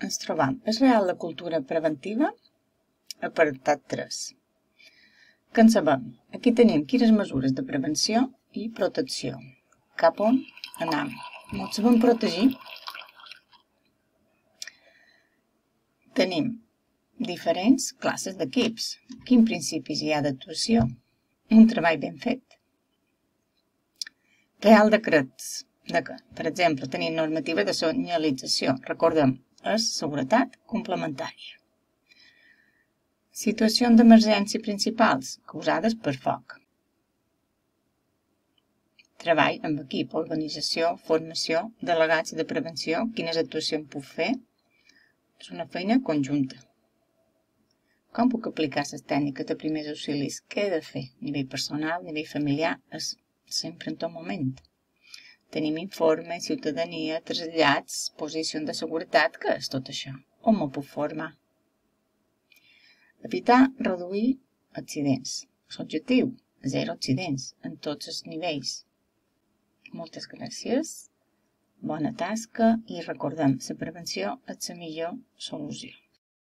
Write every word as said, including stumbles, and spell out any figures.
ens trobam. És real la cultura preventiva? Apartat tres. Què en sabem? Aquí tenim quines mesures de prevenció i protecció. Cap on anem? Ens sabem protegir? Tenim diferents classes d'equips. Quins principis hi ha d'actuació? Un treball ben fet. Real decrets. Per exemple, tenim normativa de senyalització. Recordem, és seguretat complementària. Situacions d'emergència principals causades per foc. Treball amb equip, organització, formació, delegats de prevenció. Quines actuacions puc fer? És una feina conjunta. Com puc aplicar les tècniques de primers auxilis? Què he de fer? A nivell personal, a nivell familiar, és sempre en tot moment. Tenim informe, ciutadania, trasllats, posicions de seguretat. Què és tot això? On m'ho puc formar? Evitar, reduir accidents. L'objectiu, zero accidents en tots els nivells. Moltes gràcies, bona tasca i recordem, la prevenció és la millor solució.